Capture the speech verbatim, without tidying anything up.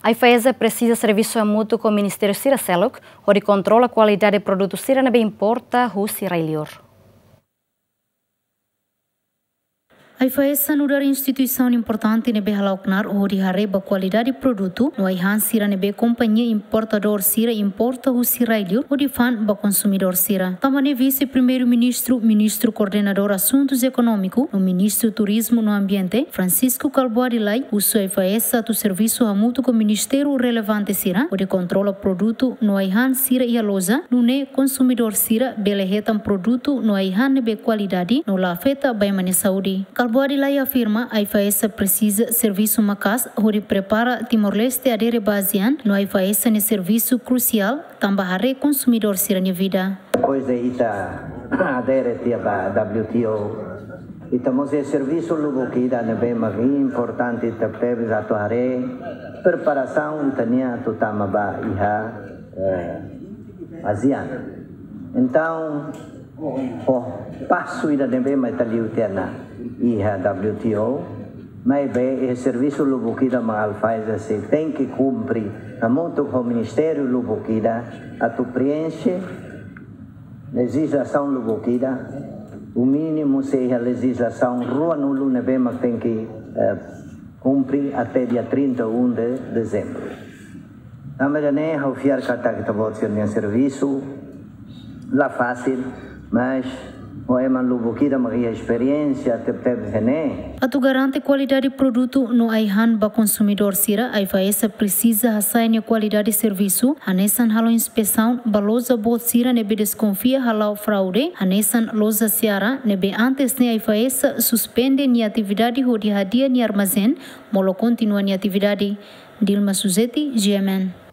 AIFAESA presiza servisu hamutuk ho ministériu sira seluk hodi kontrola kualidade produtu sira ne'ebé importa husi rai-liur. AIFAESA nu'udar instituisaun importante ne'ebé hala'o knaar hodi haree ba kualidade produtu no ai-han sira ne'ebé kompañia importadór sira importa husi rai-liur hodi fa'an ba konsumidór sira. Tanba ne'e Vise-Primeiru-Ministru, Ministru Koordenadór Asuntus Ekonómiku no Ministru Turizmu no Ambiente, Francisco Kalbuadi Lay, husu AIFAESA atu servisu hamutuk ho ministériu relevante sira hodi kontrola produtu no ai-han sira iha loja, nune'e konsumidór sira bele hetan produtu no ai-han ne'ebé kualidade no la afeta ba ema nia saúde. Kalbuadi Lay afirma, AIFAESA presiza servisu maka'as hodi prepara Timor-Leste adere ba ASEAN, no AIFAESA nia servisu krusiál tanba haree konsumidór sira-nia vida. Depois de ita adere tiha ba W T O, ita mós iha servisu lubuk ida ne'ebé mak importante tebetebes atu haree preparasaun ita-nian atu tama ba iha, eh, ASEAN. Entaun, ho pasu ida ne'ebé mak ita liu tiha ona iha W T O, maibé iha servisu lubuk ida mak AIFAESA sei tenke kumpre hamutuk ho ministériu lubuk ida atu preenxe lejizlasaun lubuk ida, no mínimu sei iha lejizlasaun ruanulu ne'ebé mak tenke, eh, kumpre até dia trinta e um de dezembro. Tanba ida-ne'e ha'u fiar katak ita-boot sira-nia servisu la fasil, mas ho ema lubuk ida mak iha esperiénsia tebetebes iha ne'e. Atu garante kualidade produtu no ai-han ba konsumidór sira, AIFAESA presiza hasa'e nia kualidade servisu, hanesan halo inspesaun ba loja boot sira ne'ebé deskonfia hala'o fraude, hanesan loja Seara ne'ebé antes ne'e AIFAESA suspende nia atividade hodi hadi'a nia armazén, molok kontinua nia atividade. Dilma Suzeti, G M N.